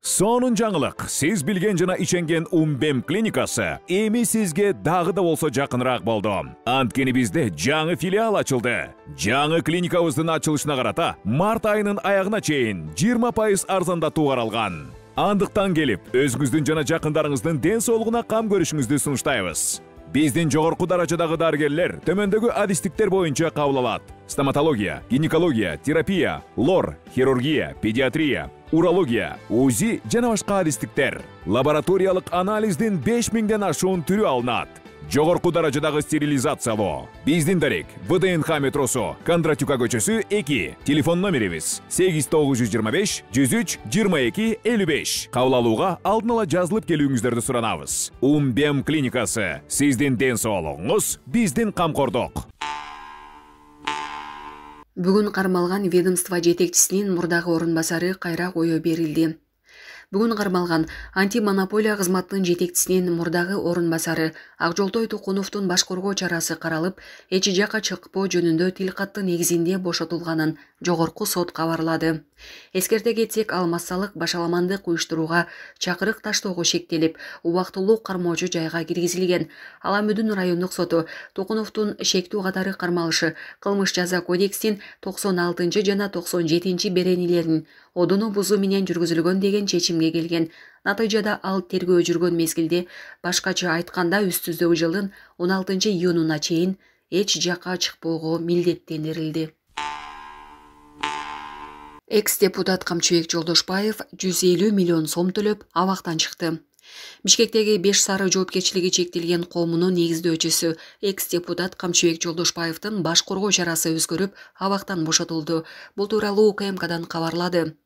Сонун жаңылык, сиз билген жана иченген Умбем клиникасы эми сизге дагы да болсо жакыныраак болду. Анткени бизде жаңы филиал ачылды. Жаңы клиникабыздын ачылышына карата март айынын аягына чейин 20% арзандатуу каралган. Андыктан келип, өзүңүздүн жана жакындарыңыздын ден соолугуна кам көрүшүңүздү сунуштайбыз. Биздин жогорку даражадагы дарыгерлер төмөндөгү адистиктер боюнча кабыл алат: стоматология, гинекология, терапия, лор, хирургия, педиатрия, урология, УЗИ жана башка адистиктер. Лабораториялык анализдин 5000ден ашуун түрү алынат. Жогорку даражадагы стерилизациялоо. Биздин дарек ВДНХ метросу, Кондратюка көчөсү 2. Телефон номерибиз 8925 103 22 55. Кабыл алууга алдын ала жазылып келүүңүздөрдү суранабыз. Умбем клиникасы. Сиздин ден соолугуңуз, биздин камкордук. Бүгүн кармалган ведомство жетекчисинин мурдагы орун басары кайра коюу берилди. Бүгүн кармалган антимонополия кызматынын жетекчисинин мурдагы орун басары Акжолтой Тукуновдун баш коргоо чарасы каралып, эч жакка чыкпоо жөнүндө тилкаты негизинде бошотулганын жогорку сот кабарлады. Эскерте кетсек, ал массалык башаламандык уюштурууга чакырык таштоого шектелип, убактылуу кармоочу жайга киргизилген. Ал Амүдүн райондук соту Тукуновдун шектүү катары кармалышы кылмыш жаза кодексинин 96 жана 97 беренелерин одуну бузуу менен жүргүзүлгөн деген чечимге келген. Натыйжада ал тергөө жүргөн мезгилде, башкача айтканда үстүздөгү жылдын 16 июнуна чейин эч жакка чыкпоого милдеттендирилди. Экс-депутат Камчыбек Жолдошбаев 150 миллион сом төлөп абактан чыкты. Бишкектеги 5 сары жоопкерчилиги чектелген коомунун негиздөөчүсү экс-депутат Камчыбек Жолдошбаевдин баш коргоо чарасы өзгөрүп, абактан бошотулду. Бул тууралуу УКМКдан кабарлады.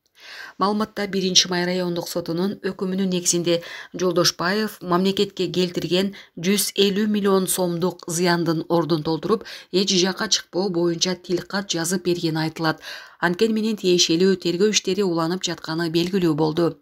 Маалыматта 1-май райондук сотунун өкүмүнүн негизинде Жолдошбаев мамлекетке келтирген 150 миллион сомдук зыяндын ордун толтуруп, эч жакка чыкпоо боюнча тилкат жазып бергени айтылат. Анткени менен тиешелүү тергөө иштери уланып жатканы белгилүү болду.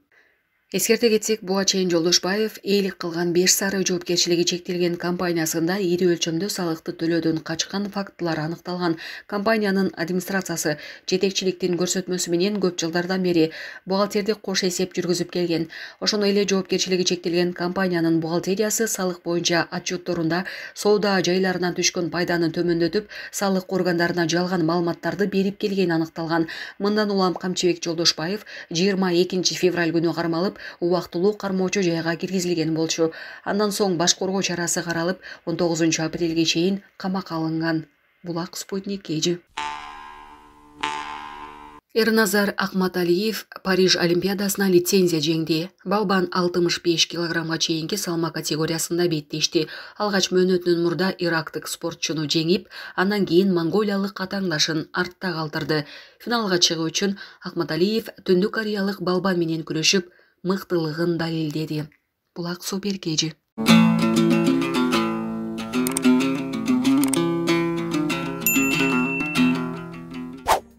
Эскерте кетсек, буга чейин Жолдошбаев ээлик кылган 5 сары жоопкерчилиги чектелген компаниясында ири өлчөмдө салыкты төлөөдөн качкан фактылар аныкталган. Компаниянын администрациясы жетекчиликтин көрсөтмөсү менен көп жылдардан бери бухгалтердик кош эсеп жүргүзүп келген. Ошондой эле жоопкерчилиги чектелген компаниянын бухгалтериясы салык боюнча отчетторунда соода жайларынан түшкөн пайданы төмөндөтүп, салык органдарына жалган маалыматтарды берип келгени аныкталган. Мындан улам Камчыбек Жолдошбаев 22 февраль күнү кармалып, убактылуу кармоочу жайга киргизилген болчу. Андан соң баш коргоо чарасы каралып, 19 апрелге чейин камакка алынган. Булак Спутник KG. Эрназар Акматалиев Париж Олимпиадасына лицензия жеңди. Балбан 65 килограммга чейинки салмак категориясында беттешти. Алгач мөөнөтүнөн мурда ирактык спортчуну жеңип, андан кийин монголиялык катаңдашын артта калтырды. Финалга чыгуу үчүн Акматалиев Түндүк Кореялык балбан менен күрөшүп, мыктылыгын далилдеди. Булак Супер KG.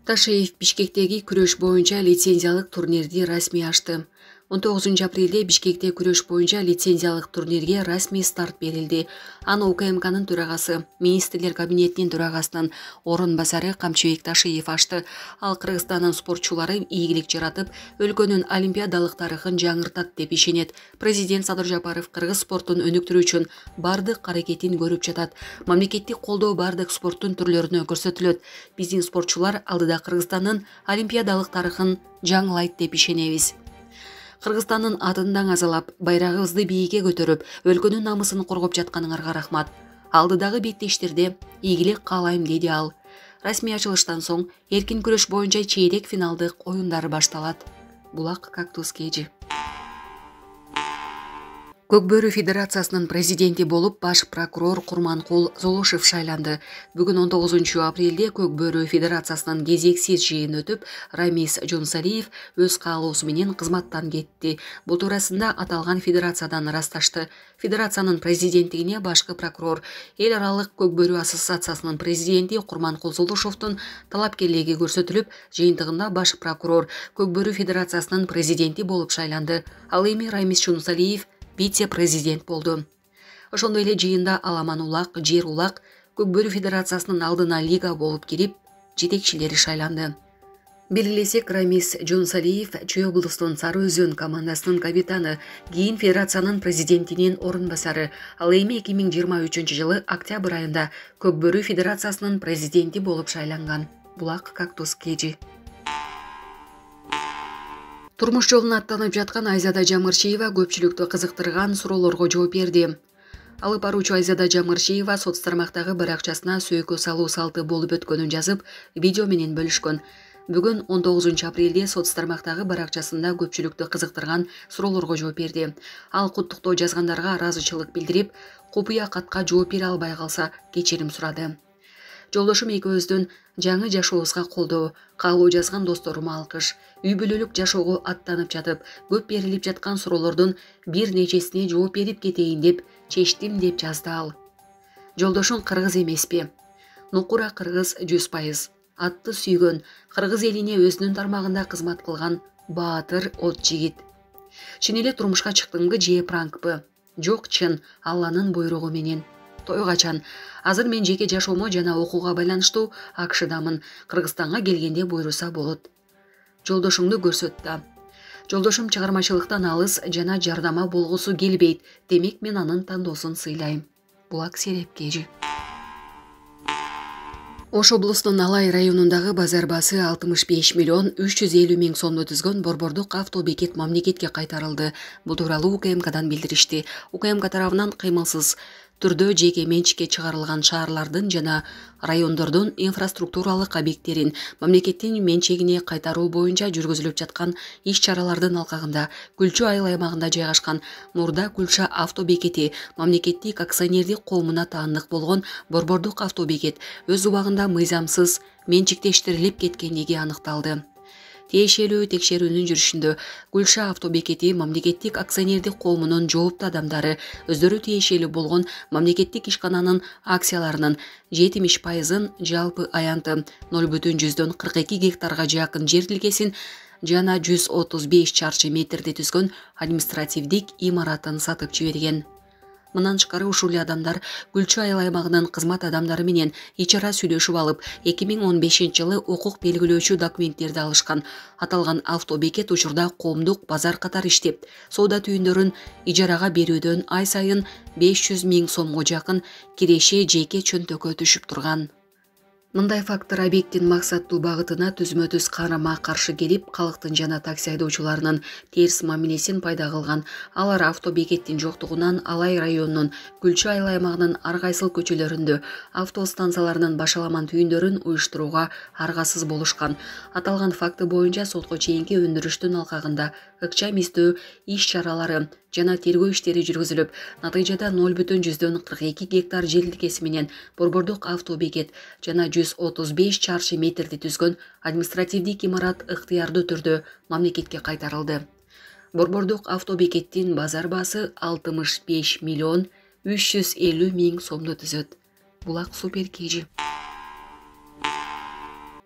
Ташиев Бишкектеги күрөш боюнча лицензиялык турнирди расмий ачты. 19 апрелде Бишкекте күрөш боюнча лицензиялык турнирге расмий старт берилди. Аны УКМКнын төрагасы, министрлер кабинетинин төрагасынын орун басары Камчыбек Ташиев ачты. Ал Кыргызстандын спортчулары ийгилик жаратып, өлкөнүн олимпиадалык тарыхын жаңыртат деп ишенет. Президент Садыр Жапаров кыргыз спортун өнүктүрүү үчүн бардык аракетин көрүп жатат. Мамлекеттик колдоо бардык спорттун түрлөрүнө көрсөтүлөт. Биздин спортчулар алдыда Кыргызстандын олимпиадалык тарыхын жаңылайт деп ишенебиз. Кыргызстандын атын даңазалап, байрагыбызды бийикке көтөрүп, өлкөнүн намысын коргоп жатканыңарга рахмат. Алдыдагы беттештерде ийгилик каалайм, деди ал. Расмий ачылыштан соң эркин күрөш боюнча чейрек финалдык оюндар башталат. Булак Кактус KG. Көкбөрү Федерациясынын президенти болуп баш прокурор Курманкул Золошев шайланды. Бүгүн 19 апрелде Көкбөрү Федерациясынын кезексиз жыйыны өтүп, Рамис Жонсалиев өз каалоосу менен кызматтан кетти. Бул туурасында аталган федерациядан ырасташты. Федерациянын президенттигине башкы прокурор, эл аралык Көкбөрү ассоциациясынын президенти Курманкул Золошевдун талапкерлиги көрсөтүлүп, жыйынтыгында баш прокурор Көкбөрү Федерациясынын президенти болуп шайланды. Ал эми Рамис Жонсалиев вице-президент болду. Ошондой эле жыйында Аламан Улак, Жер Улак Көкбөрү Федерациясынын алдына лига болуп кирип, жетекчилери шайланды. Белгилесек, Рамис Жонсалиев Чүй облустун Сары Өзөн командасынын капитаны, кийин федерациянын президентинин орун басары, ал эми 2023 жылы октябрь айында Көк Бөрү федерациясынын президенти болуп шайланган. Булак Кактус Кежи. Турмуш жолуна аттанып жаткан Айзада Жамыршиева көпчүлүктү кызыктырган суроолорго жооп берди. Алып баруучу Айзада Жамыршиева соц тармактагы бір акчасына сөйкө салуу салты болуп өткөнүн жазып, видео менен бөлүшкөн. Бүгүн 19 апрелде соц тармактагы бір акчасында көпчүлүктү кызыктырган суроолорго жооп берди. Ал куттуктоо жазгандарга ыраазычылык билдирип, купуя катка жооп бере албай калса кечирим сурады. Жолдошум экөөбүздүн жаңы жашообузга колдоо, каалоо жазган досторума алкыш. Үй бүлөлүк жашоого аттанып жатып, көп берилип жаткан суроолордун бир нечесине жооп берип кетейин деп чечтим деп жазды ал. Жолдошуң кыргыз эмеспи? Нукура кыргыз 100%. Атты сүйгөн, кыргыз элине өзүнүн тармагында кызмат кылган баатыр от жигит. Чын эле турмушка чыктыңбы же пранкпы? Жок, чын, Алланын буйругу менен. Той качан? Азыр мен жеке жашоомо жана окууга байланыштуу АКШдамын. Кыргызстанга келгенде буйруса болот. Жолдошуңду көрсөт да. Жолдошум чыгармачылыктан алыс жана жардама болгусу келбейт. Демек мен анын тандоосун сыйлайм. Булак Серепкежи. Ош облусунун Алай районундагы базар баасы 65 миллион 350 миң сомду түзгөн борбордук автобекет мамлекетке кайтарылды. Бул тууралуу УКМКдан билдиришти. УКМК тарабынан кыймылсыз түрдө жеке менчикке чыгарылган шаарлардын жана райондордун инфраструктуралык объекттерин мамлекеттин менчегине кайтаруу боюнча жүргүзүлүп жаткан иш-чаралардын алкагында Күлчү айыл аймагында жайгашкан Мурда Күлча автобекети мамлекеттик акционердик коомуна таандык болгон борбордук автобекет өз убагында мыйзамсыз менчиктештирилип кеткендиги аныкталды. Тиешелүү текшерүүнүн жүрүшүндө Күлча автобекети мамлекеттик акционердик коомунун жооптуу адамдары өздөрү тиешелүү болгон мамлекеттик ишкананын акцияларынын 70%-ын жалпы аянты 0,42 гектарга жакын жер тилкесин жана 135 чарчы метрди түзгөн административдик имаратын сатып жиберген. Мындан тышкары ушул адамдар Күлчү айыл аймагынын кызмат адамдары менен ичара сүйлөшүп алып, 2015 жылы укук белгилөөчү документтерди алышкан. Аталган автобекет учурда коомдук базар катары иштеп, соода түйүндөрүн ижарага берүүдөн ай сайын 500 миң сомго жакын киреше жеке чөнтөккө түшүп турган. Мындай фактор объекттин максаттуу багытына түзмө-түз карама-каршы келип, калктын жана такси айдоочуларынын терс мамилесин пайда кылган. Алар автобекеттин жоктугунан Алай районунун Күлчү айыл аймагынын ар кайсыл көчөлөрүндө автостанцияларынын башаламан түйүндөрүн уюштурууга аргасыз болушкан. Аталган факты боюнча сотко чейинки өндүрүштүн алкагында ыкчам издөө иш-чаралары жана тергөө иштери жүргүзүлүп, натыйжада 0,42 гектар жер тилкеси менен борбордук автобекет жана 135 чарчы метрди түзгөн административдик имарат ыктыярдуу түрдө мамлекетке кайтарылды. Борбордук автобекеттин базар баасы 65 миллион 350 миң сомду түзөт. Булак Суперкежи.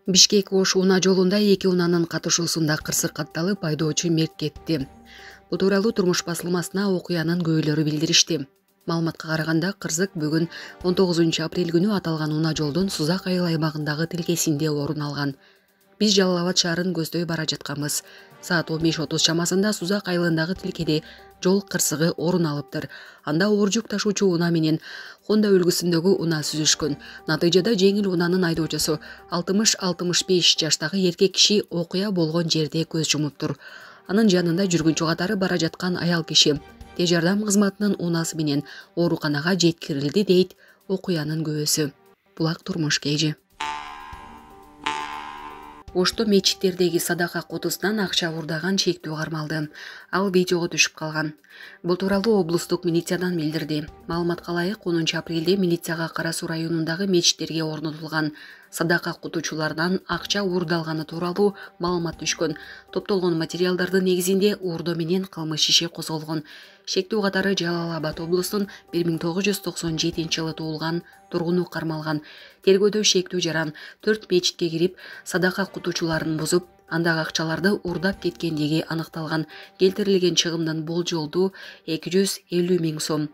Бишкек-Ош унаа жолунда 2 унаанын катышуусунда кырсык катталып, айдоочу мерт кетти. Бул тууралуу Турмуш басылмасына окуянын күбөлөрү билдиришти. Маалыматка караганда, кырсык бүгүн 19 апрель күнү аталган унаа жолдун Сузак айыл аймагындагы тилкесинде орун алган. Биз Жалал Абад шаарын көздөй бара жатканбыз. Саат 15:30 чамасында Сузак айылындагы тилкеде жол кырсыгы орун алыптыр. Анда оор жүк ташуучу унаа менен Honda үлгүсүндөгү унаа сүзүшкөн. Натыйжада жеңил унаанын айдоочусу 60-65 жаштагы эркек киши окуя болгон жерде көз жумуптур. Анын жанында жүргүнчү катары бара жаткан аял киши тез жардам кызматынын унаасы менен ооруканага жеткирилди, дейт окуянын күбөсү. Булак Турмушкежи. Ошто мечиттердеги садака кутусунан акча уурдаган чектүү кармалды. Ал видеого түшүп калган. Бул тууралуу облустук милициядан билдирди. Маалыматка ылайык, 10 апрелде милицияга Кара Суу районундагы мечиттерге орнотулган садака кутуучулардан акча уурдалганы тууралуу маалымат түшкөн. Топтолгон материалдардын негизинде уурдоо менен кылмыш иши козголгон. Шектүү катары Жалал Абад облусунун 1997 жылы туулган тургуну кармалган. Тергөөдө шектүү жаран 4 мечитке кирип, садака кутуучуларын бузуп, андагы акчаларды уурдап кеткендиги аныкталган. Келтирилген чыгымдын болжолдуу 250 миң сом.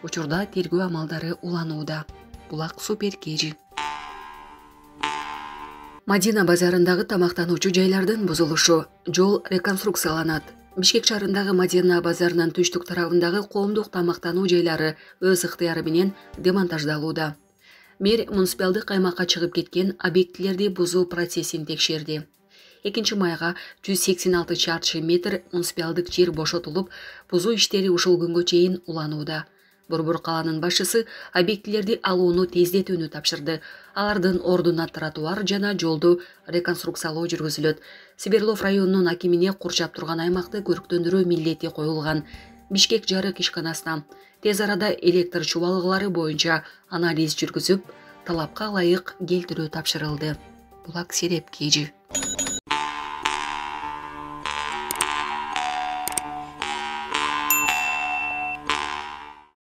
Учурда тергөө амалдары уланууда. Булак Суперкежи. Мадина базарындагы тамактануучу жайлардын бузулушу. Жол реконструкцияланат. Бишкек шаарындагы Мадина базарынын түштүк тарабындагы коомдук тамактануу жайлары өз ыктыяры менен демонтаждалууда. Мэр муниципалдык аймакка чыгып кеткен объектилерди бузуу процессин текшерди. 2-майга 186 чарчы метр муниципалдык жер бошотулуп, бузуу иштери ушул күнгө чейин уланууда. Борбор калаанын башчысы объектилерди алууну тездетүүнү тапшырды. Алардын ордуна тротуар жана жолду реконструкциялоо жүргүзүлөт. Сиберлов районунун акимине курчап турган аймакты көрктөндүрүү милдети коюлган. Бишкек жарык ишканасына тез арада электр чубалыгылары боюнча анализ жүргүзүп, талапка ылайык келтирүү тапшырылды. Булак Серепкежи.